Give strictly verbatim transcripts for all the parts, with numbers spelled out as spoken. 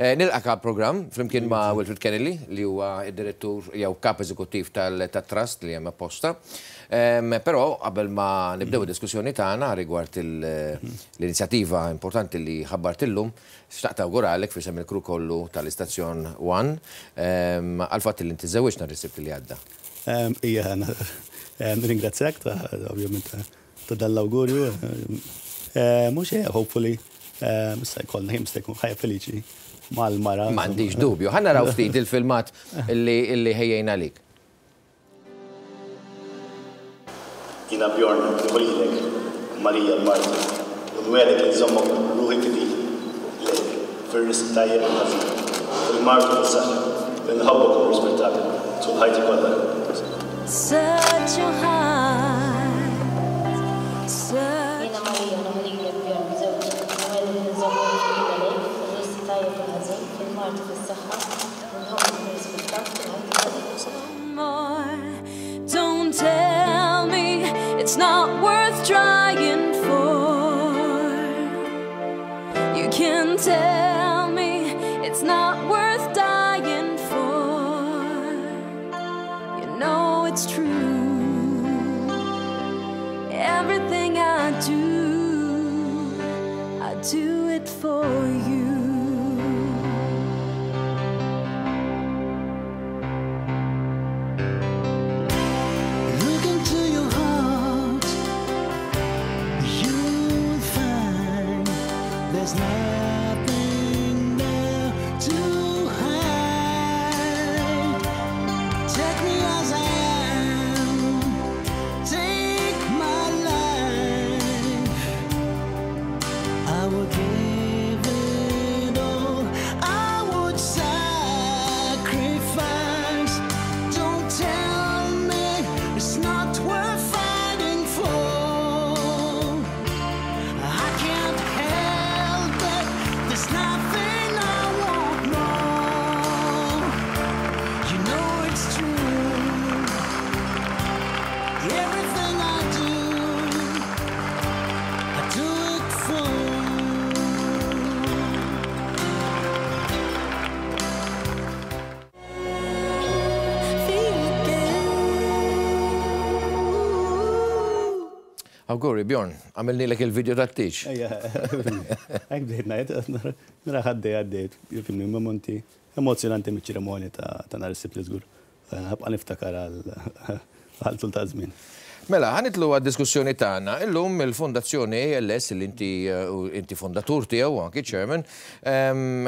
Nilqgħek għall-programm flimkien ma' Wilfred Kennelly, li huwa id-direttur jew kap eżekuttiv tal-Trust li hemm apposta. Però qabel ma nibdew id-diskussjoni tagħna rigward l-inizjattiva importanti li ħabbart illum, xtaqt awguralek f'isem il-crew kollu tal-istazzjon One għal fatt li inti żewwiġt nhar is-Sibt li għadda. Ija, ringrazzjak ta' ovvjament ta' dal-awgurju. Mhux hopefully issa jkollna kemm se jkun ħajja feliċi mal-mara. M'għandix dubju. Ħa naraw ftit il-filmat illi ħejjejna lik. Jiena Bjorn, nieħu lilek, Marija l-marti, u nwiegħdek li nżommok ruħi fidil lejk, fir-risq tajjeb u ħażin, fil-mard u fis-saħħa, li nħobbok u nirrispettak tul ħajti kollha. Search your heart, search. Jiena Marija nieħu lilek Bjorn żewġi, u nwiegħdek li nżommok fidila lejk, fir-risq tajjeb u ħażin, fil-mard u fis-saħħa, li nħobbok u nirrispettak tul ħajti kollha. More. Don't tell me it's not worth trying for. You can tell me it's not worth dying for. You know it's true. Everything I do, I do it for you. Look into your heart, you'll find there's nothing there to hide. Take me as I am, take my life. I would give it all, I would sacrifice. Don't tell me it's not worth fighting for. I can't help it, there's nothing I want more. You know it's true. Everything I do, I do it for you. Feel again. Awguri, Bjorn, għamilnilek il-video tat-tieġ. Ejja, hekk bdejt ngħid, nara għaddej għaddejt, jifhimni momenti emozjonanti miċ-ċerimonja ta' nhar is-Sibt li żgur. Ħabqa niftakar għal tul ta' żmien. Mela, ħa nidħlu għad-diskussjoni tagħna. Illum il-Fondazzjoni A L S, li inti inti fondatur tiegħu, anki chairman, ehm,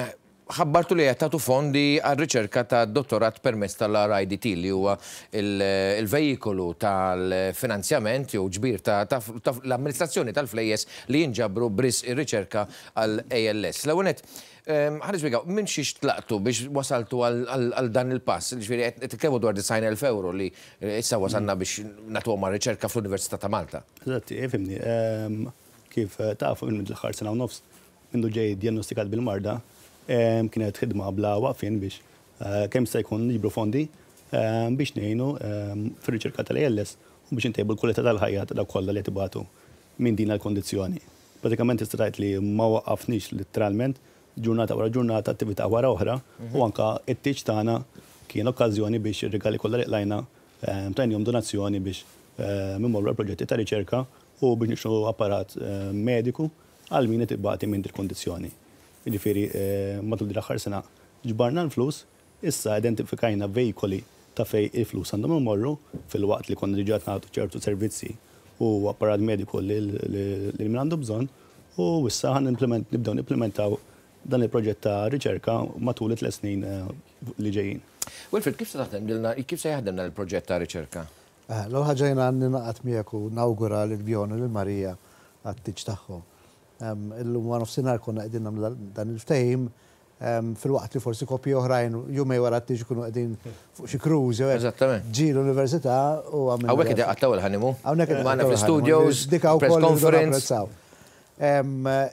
ħabbartu li qed tagħtu fondi għal riċerka ta' dottorat permezz tal-R I D T, li huwa il-vejikolu tal-finanzjament jew ġbir ta' l-amministrazzjoni tal-flejjes li jinġabru b'risq ir-riċerka għal A L S. L-ewwel nett, ħa nispjegaw minn xiex tlaqtu biex wasaltu għal dan il-pass. Ġifieri qed titkellmu dwar disgħin elf euro li issa wasalna biex nagħtuhom riċerka fl-Università ta' Malta. Eżatt, ifhimni, kif tafu, minn l-aħħar sena u nofs mindu ġej diagnostikat bil-marda, kienet ħidma bla waqfien biex kemm se jkun niġbru fondi biex ngħinu fir-riċerka tal-A L S u biex intejbu l-kwalità tal-ħajja ta' dawk kollha li tibatu minn din il-kondizzjoni. Pratikament tista' tgħid li ma waqafniex, literalment ġurnata wara ġurnata, attività wara oħra, u anka it-tieġ tagħna kien okkażjoni biex ir-rigali kollha li qlajna tajnihom donazzjoni biex immorru proġetti ta' riċerka u biex nixtru apparat mediku għal min qed ibati minn din il-kondizzjoni. Jiġifieri matul din l-aħħar sena ġbarna l-flus, issa identifikajna vejkoli ta' fej il-flus għandhom imorru, filwaqt li konna diġà nagħtu ċertu servizzi u apparat mediku lil min għandu bżonn, u issa ħa nibdew nimplementaw dan il-proġett ta' riċerka matul it-tliet snin li ġejjin. Wilfred, kif se taħdem, kif se jaħdem dan il-proġett ta' riċerka? L-ewwel ħaġa, jiena ningħaqad miegħek u nawgura lil Bjorn u lil Marija għat-tieġ tagħhom. Illum wara nofsinhar konna qegħdin nagħmlu dan il-ftehim, filwaqt li forsi koppji oħrajn jumejn wara t-tieġ ikunu qegħdin fuq xi cruise jew hekk. Eżattament. Ġie l-università u għamilna. Hawnhekk qed iqattgħu il-honeymoon. Hawnhekk qed Magħna iqattgħu fl-studios, il-honeymoon. Dika press wkoll irridu conference. napprezzaw.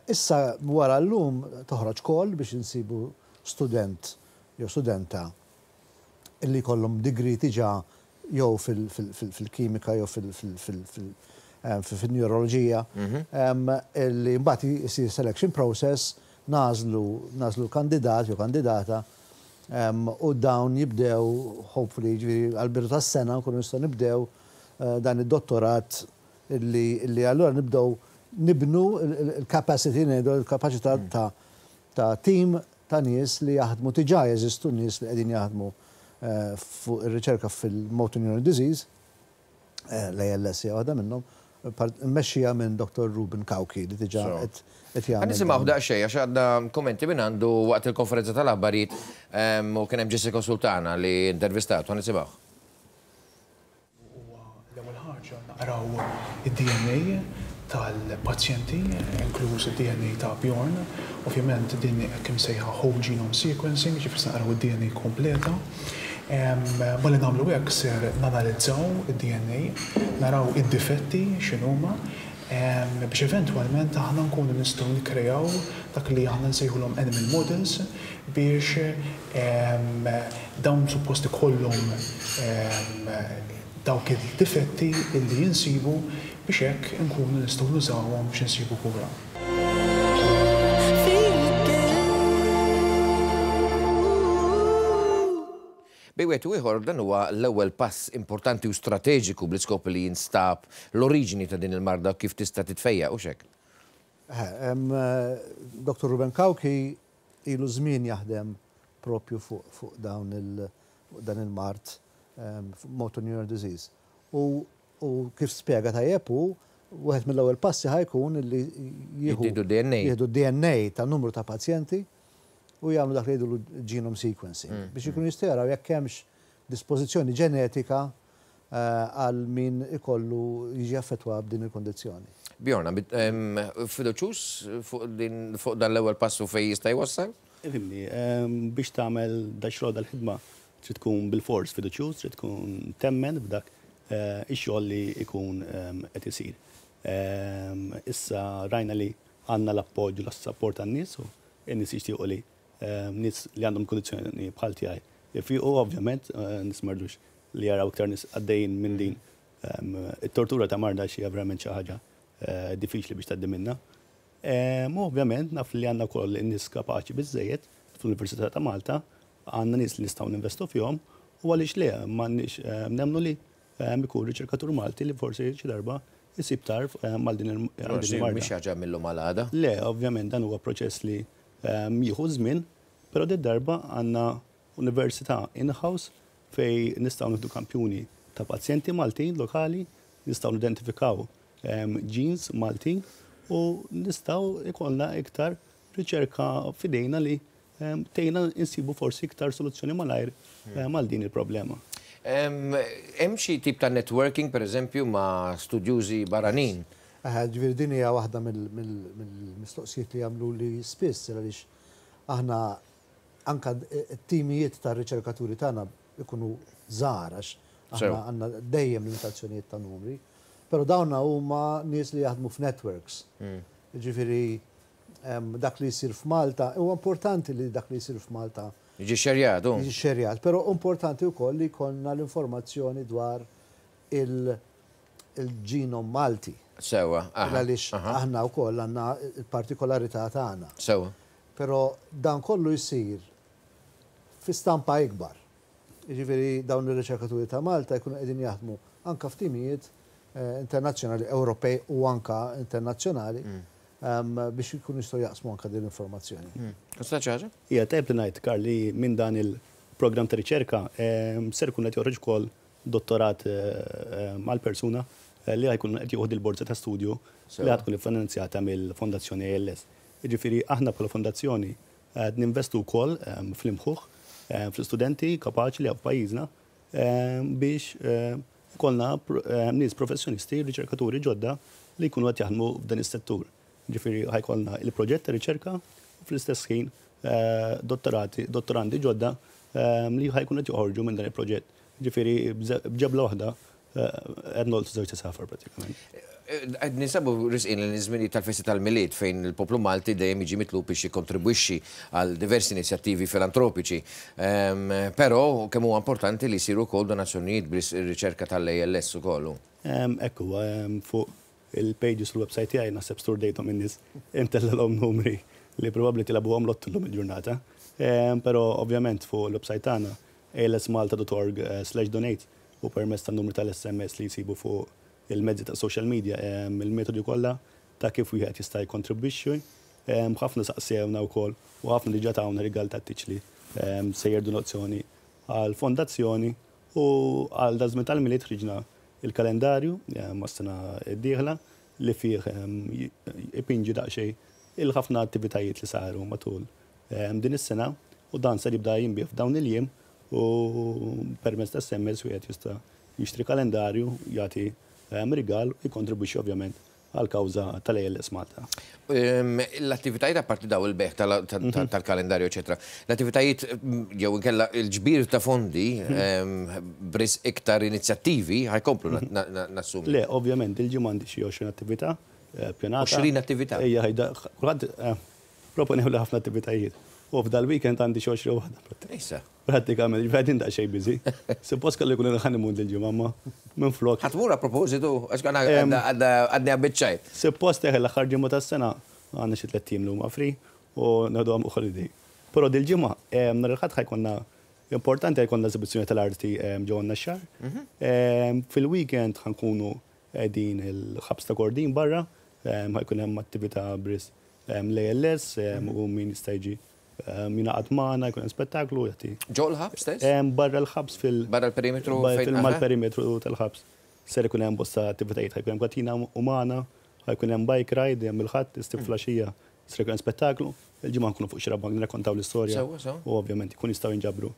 Issa wara llum toħroġ call biex insibu student jew studenta illi jkollhom degree diġà jew fil-kimika jew fil-neuroloġija, illi mbagħad isir selection process nagħżlu nagħżlu kandidat jew kandidata u dawn jibdew, hopefully, ġifieri għal-bidu tas-sena nkunu nistgħu nibdew dan id-dottorat illi allura nibdew nibnu il-capacity, ngħidu il-kapaċità ta' team ta' nies li jaħdmu. Diġà jeżistu nies li qegħdin jaħdmu fuq ir-riċerka fil-motor neuron disease, l-A L S hija waħda minnhom, mmexxija minn Doctor Ruben Cauchi li diġà qed jagħmel. Nisimgħu daqsxejn għax għandna kommenti minn għandu waqt il-konferenza tal-aħbarijiet u kien hemm Jessica Sultana li intervistatu, nisimgħu. L-ewwel ħaġa naqraw id-D N A tal-pazjenti, inkluż id-D N A ta' Bjorn. Ovvjament din hekk imsejħa whole genome sequencing, ġifieri naqraw id-D N A kompleta. Malli nagħmlu hekk ser nanalizzaw id-D N A, naraw id-difetti x'inhuma, biex eventwalment aħna nkunu nistgħu nikkrejaw dak li aħna nsejħulhom animal models biex dawn suppost ikollhom dawk il-difetti illi jinsibu biex hekk nkunu nistgħu nużawhom biex insibu kura. Bejn wieħed u ieħor, dan huwa l-ewwel pass importanti u strateġiku bl-iskop li jinstab l-oriġini ta' din il-marda, kif tista' titfejja u xek. Doctor Ruben Cauchi ilu żmien jaħdem propju fuq dawn il dan il-mard, motor neuron disease. U kif spjega tajjeb hu, wieħed mill-ewwel passi ħa jkun li jieħdu D N A. Jieħdu D N A ta' numru ta' pazjenti u jagħmlu dak li jgħidu genome sequencing mm, biex ikunu jistgħu jaraw jekk hemmx dispożizzjoni ġenetika għal min ikollu jiġi affettwa b'din il-kondizzjoni. Bjorn, fiduċjuż fuq dan l-ewwel passu fejn jista' jwassal? Ifhimni, biex tagħmel da xogħol, dal-ħidma, trid tkun bil-fors fiduċjuż, trid tkun temmen b'dak ix-xogħol li jkun qed isir. Issa rajna li għandna l-appoġġ u l-support għan-nies u n-nies jixtiequ li nies li għandhom kondizzjoni bħal tiegħi jfiqu. Ovvjament, nies ma jridux li jaraw iktar nies għaddejjin minn din it-tortura ta' marda, xi verament xi ħaġa diffiċli biex tgħaddi minnha. U ovvjament naf li għandna wkoll in-nies kapaċi biżejjed fl-Università ta' Malta, għandna nies li nistgħu ninvestu fihom u għaliex le m'għandniex nemmnu li ikun riċerkatur Malti li forsi xi darba jsib tarf għal din il-marda. Mhix ħaġa mil-lum għal għada. Le, ovvjament dan huwa proċess li jieħu żmien, però din darba għandna università in-house fej nistgħu nieħdu kampjuni ta' pazjenti Maltin lokali, nistgħu nidentifikaw genes Maltin u nistgħu ikollna iktar riċerka f'idejna li tgħinna insibu forsi iktar soluzzjoni malajr għal din il-problema. Hemm xi tip ta' networking, per eżempju, ma' studjużi barranin? Ġifieri din hija waħda mill-mistoqsijiet li jagħmlu li spiss, għaliex aħna anka t-timijiet ta' riċerkaturi tagħna ikunu żgħar għax aħna għandna dejjem limitazzjonijiet ta' numri. Però dawna huma nies li jaħdmu f'networks. Ġifieri dak li jsir f'Malta, huwa importanti li dak li jsir f'Malta jiġi xerjat. Jiġi xerjat, però importanti wkoll li jkollna l-informazzjoni dwar il-ġenom Malti. Sewa. Għaliex aħna wkoll għandna il-partikolarità tagħna. Sewa. Però dan kollu jsir fi stampa ikbar. Jiġifieri dawn ir-riċerkaturi ta' Malta jkunu qegħdin jaħdmu anka f'timijiet internazzjonali, Ewropej u anka internazzjonali, biex jkunu jistgħu jaqsmu anka din l-informazzjoni. Kosta ħaġa? Ija, tajb li ngħid, Karl, li minn dan il-programm ta' riċerka ser ikun qed joħroġ ukoll dottorat mal-persuna li ħa jkun qed jieħu il-borza ta' studju li ħa tkun iffinanzjata mill-Fondazzjoni A L S. Jiġifieri aħna bħala fondazzjoni qed ninvestu wkoll fl-imħuħ, fl-istudenti kapaċi li hawn pajjiżna biex ikollna nies professjonisti, riċerkaturi ġodda li jkunu qed jaħdmu f'dan is-settur. Ġifieri ħa jkollna il-proġett ta' riċerka u fl-istess ħin dottorati, dottorandi ġodda li ħa jkunu qed joħorġu minn dan il-proġett. Ġifieri b'ġebla waħda qed nolqtu żewġ għasafar pratikament. Qed ninsabu resqin l-żmini tal-festi tal-Milied, fejn il-poplu Malti dejjem jiġi mitlub biex jikkontribwixxi għal diversi inizjattivi filantropiċi. Però kemm huwa importanti li jsiru wkoll donazzjonijiet bir-riċerka tal-A L S ukoll. Ekku, fuq il-pages u l-website tiegħi naħseb sturdejthom in-nies intellgħalhom numri li probabbli tilagħbuhom lottu llum il-ġurnata. Però ovvjament fuq il-website tagħna A L S malta dot org slash donate u permezz tan-numru tal-S M S li jsibu fuq il-mezzi ta' social media, il-metodi kollha ta' kif wieħed jista' jkontribwixxi. Ħafna saqsewna wkoll u ħafna diġà tawna rigal ta' tieġ li sejjer donazzjoni għal fondazzjoni u għal daż-żmien tal-Milied ħriġna il-kalendarju mas-sena d-dieħla li fih ipinġi daqsxejn il-ħafna attivitajiet li saru matul din is-sena u dan ser jibda jinbiegħ f'dawn il-jiem u permezz ta' S M S wieħed jista' jixtri kalendarju, jagħti rigal u jkontribwixxi ovvjament għal kawża tal-A L S Malta. L-attivitajiet, apparti daw il-bejgħ tal-kalendarju, eċetera, l-attivitajiet jew inkella il-ġbir ta' fondi bris iktar inizjattivi ħa jkomplu, nassumi. Le, ovvjament, il-ġimgħa għandi xi għoxrin attività ppjanata. għoxrin attività? Ejja, ħajda, kulħadd proponew li ħafna attivitajiet. U f'dal weekend għandi xi għoxrin waħda. Issa. Prattikament, ġifieri daqsxejn busy. Suppost kellu jkun il-honeymoon dil-ġimgħa, ma minn flok. Ħa tmur a propositu, għax għadni għabbiċċajt. Suppost eħe l-aħħar ġimgħa tas-sena għandna xi tliet ijiem li huma free u nieħdu holiday. Però dil-ġimgħa nhar il-Ħadd ħa jkollna importanti, ħa jkollna eżibizzjoni tal-arti ġewwa Naxxar. Fil-weekend ħa nkunu qegħdin il-ħabs ta' Kordin barra, ħa jkun hemm attività bris l-A L S u min jista' jiġi jingħaqad magħna, jkun hemm spettaklu jagħti. Ġo l-ħabs stess? Barra l-ħabs fil- Barra l-perimetru? Mal-perimetru tal-ħabs. Ser ikun hemm bosta attivitajiet, ħa jkun hemm katina umana, ħa jkun hemm bike ride, hemm il-Ħadd, is-Sibt filgħaxija, ser ikun hemm spettaklu. Il-Ġimgħa nkunu fuq Xarabank nirrakkontaw l-istorja. U ovvjament ikun jistgħu jinġabru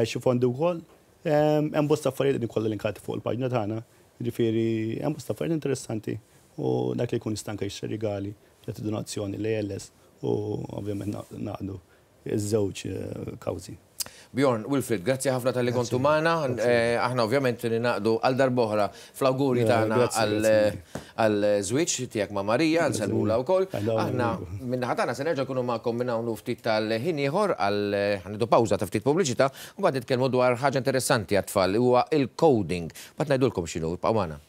xi fondi wkoll. Hemm bosta affarijiet li kollha linkati fuq il-paġna tagħna. Ġifieri hemm bosta affarijiet interessanti u dak li jkun jista' anke jixtri rigali, jagħti donazzjoni l-A L S u ovvjament naqdu iż-żewġ kawżi. Bjorn, Wilfred, grazzi ħafna talli kontu magħna. Aħna ovvjament ningħaqdu għal darb'oħra fl-awguri tagħna għal żwieġ tiegħek ma' Marija, nsellmulha wkoll. Aħna min-naħa tagħna se nerġa' nkunu magħkom minn hawn ftit tal-ħin ieħor għal ħa nieħdu pawża ta' ftit pubbliċità u mbagħad nitkellmu dwar ħaġa interessanti għat-tfal, huwa il-coding. Mbagħad ngħidulkom x'inhu, ibqgħu magħna.